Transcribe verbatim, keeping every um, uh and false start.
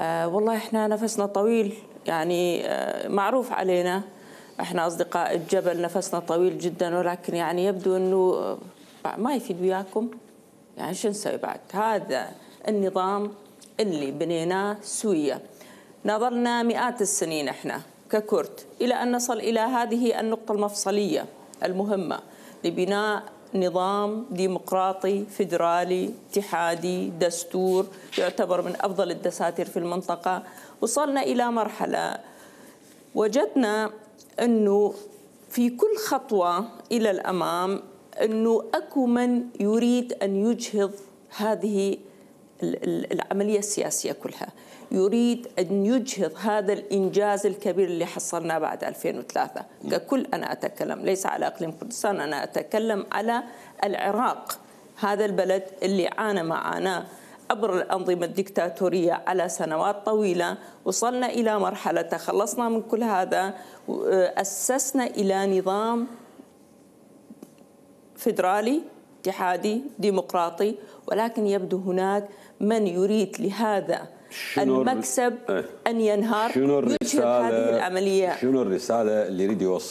آه والله احنا نفسنا طويل، يعني آه معروف علينا احنا اصدقاء الجبل نفسنا طويل جدا، ولكن يعني يبدو انه ما يفيد وياكم. يعني شو نسوي بعد؟ هذا النظام اللي بنيناه سوية نظلنا مئات السنين احنا ككرد الى ان نصل الى هذه النقطة المفصلية المهمة لبناء نظام ديمقراطي فيدرالي اتحادي دستور يعتبر من افضل الدساتير في المنطقة. وصلنا الى مرحلة وجدنا انه في كل خطوة الى الامام انه اكو من يريد ان يجهض هذه العملية السياسية كلها، يريد أن يجهض هذا الإنجاز الكبير اللي حصلناه بعد ألفين وثلاثة. ككل أنا أتكلم ليس على إقليم كردستان، أنا أتكلم على العراق، هذا البلد اللي عانى معاناة عبر الأنظمة الدكتاتورية على سنوات طويلة. وصلنا إلى مرحلة تخلصنا من كل هذا، أسسنا إلى نظام فيدرالي اتحادي ديمقراطي، ولكن يبدو هناك من يريد لهذا المكسب أن ينهار، شنو يجهض هذه العملية. شنو الرسالة اللي يريد يوصل